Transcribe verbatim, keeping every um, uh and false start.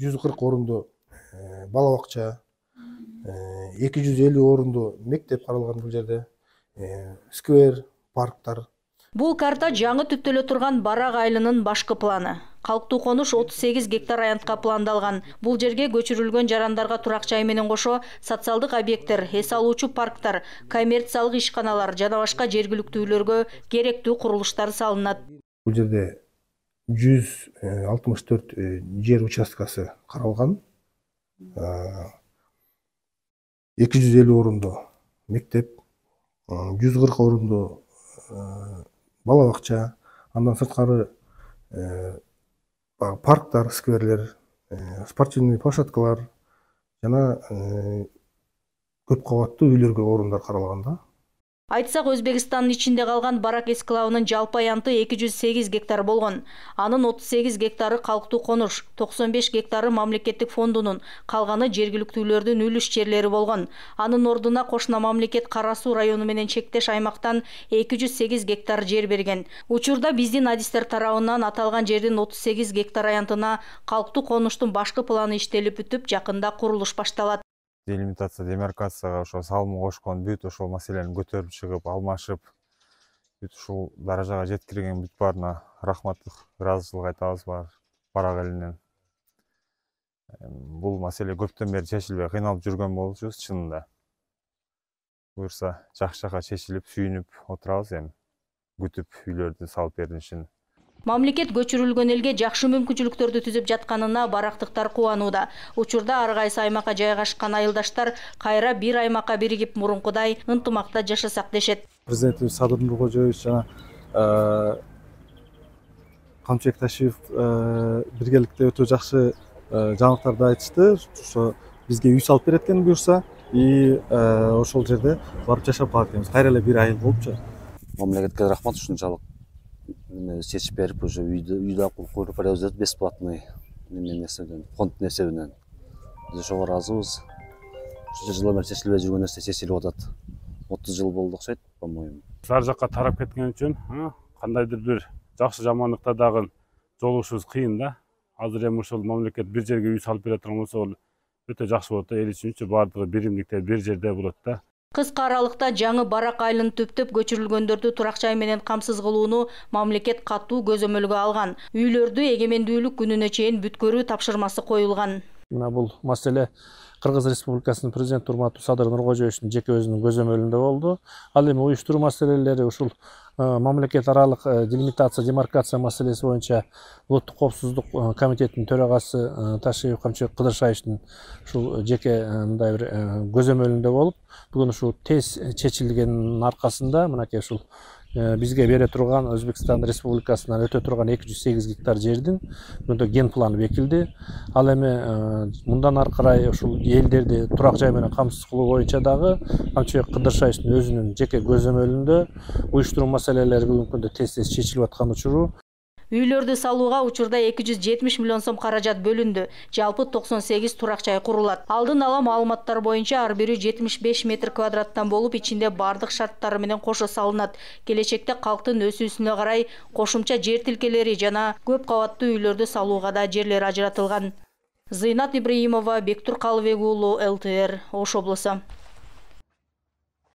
жүз кырк орунду бала бакча, эки жүз элүү орунду мектеп каралган бул жерде, сквер, парктар. Бул карта жаңы түптөлө турган Барак айылынын башкы планы. Калктуу конуш отуз сегиз гектар аянтка пландалган. Бул жерге көчүрүлгөн жарандарга турак жай менен кошо социалдык объекттер, эс алуучу парктар, коммерциялык ишканалар жана башка жергиликтүүлөргө керектүү курулуштар салынат. Бул жерде жүз алтымыш төрт жер участкасы каралган. эки жүз элүү орунду мектеп, жүз кырк орунду бала бакча, андан сырткары парктар, скверлер, спортивный площадкалар жана көп кабаттуу үйлөргө орундар каралган да. Айтсак, Өзбекстандын ичинде калган Барак эскилабынын жалпы аянты эки жүз сегиз гектар болгон. Анын отуз сегиз гектары калктуу конуш, токсон беш гектары мамлекеттик фондунун, калганы жергиликтүүлөрдүн үлүш жерлери болгон. Анын ордуна кошуна мамлекет Кара Суу району менен чектеш аймактан эки жүз сегиз гектар жер берген. Учурда биздин адистер тарабынан аталган жердин отуз сегиз гектар аянтына калктуу конуштун башкы планы иштелип бүтүп, жакында курулуш башталат. Делимитация, демаркацияга ошо салым кошкон бүт ошол маселени көтөрүп чыгып, алмашып, бүт ушул даражага жеткирген бүт баарына рахматтык, ыраазычылык айтабыз Барак элинен. Бул маселе көптөн бери чечилбей кыйналып жүргөн болчубуз чынында. Буюрса жакшы жака чечилип, сүйүнүп отурабыз эми, күтүп үйлөрдү салып беришин. Мамлекет көчүрүлгөн элге жакшы мүмкүнчүлүктөрдү түзүп жатканына барактыктар кубанууда. Учурда ар кайсы аймакка жайгашкан айылдаштар кайра бир аймакка биригип мурункудай ынтымакта жашасак дешет. Президентибиз Садыр Нуркожоевич жана Камчыбек Ташиев биргеликте өтө жакшы жаңылыктарды айтышты. Ошо бизге үй салып берет экен буюрса, и ошол жерде барып жашап калат экенбиз. Кайра эле бир айыл болупчу. Мамлекетке рахмат ушунчалык чечип берип, уже үйдө үйдө куруп беребиз бесплатный немен эсебинен, фонддун эсебинен. Биз ошого ыраазыбыз. Ушунча жылдан бери чечилбей жүргөн нерсе чечилип атат. отуз жыл болду окшойт, по-моему. Ар жакка тарап кеткен үчүн кандайдыр бир жакшы жаманлыкта дагы жолугушубуз кыйын да. Азыр эми ушул мамлекет бир жерге үй салып бере турган болсо, ол өтө жакшы болот да. Эл үчүн баардыгы биримдикте бир жерде болот да. Кыска аралыкта жаңы Барак айылын түптөп көчүрүлгөндөрдү турак жай менен камсыз кылууну мамлекет катуу көзөмөлгө алган. Үйлөрдү эгемендүүлүк күнүнө чейин бүткөрүү тапшырмасы коюлган. Мына бул маселе Кыргыз Республикасынын президенти урматтуу Садыр Нуркожоевичтин жеке өзүнүн көзөмөлүндө болду. Ал эми уюштуруу маселелери ушул мамлекет аралык делимитация, демаркация маселеси боюнча улуттук коопсуздук комитетинин төрагасы Ташиев Камчыбек Кыдыршаевичтин ушул жеке мындай бир көзөмөлүндө болуп, бүгүн ушул тез чечилгенин аркасында мынакей ушул бизге бере турган Өзбекстан Республикасынан өтө турган эки жүз сегиз гектар жердин бүгүндө ген планы бекилди. Ал эми мындан ары карай ушул элдерди турак жай менен камсыз кылуу боюнча дагы Камчыбек Кыдыршаевичтин өзүнүн жеке көзөмөлүндө уюштуруу маселелери бүгүнкү күндө тез тез чечилип аткан учуру. Үйлөрдү салууга учурда эки жүз жетимиш миллион сом каражат бөлүндү. Жалпы токсон сегиз турак жай курулат. Алдын ала маалыматтар боюнча ар бири жетимиш беш метр квадраттан болуп, ичинде бардык шарттары менен кошо салынат. Келечекте калктын өсүүсүнө карай кошумча жер тилкелери жана көп кабаттуу үйлөрдү салууга да жерлер ажыратылган. Зыйнат Ибраимова, Бектур Калыбек уулу, эл тэ эр, Ош облусу.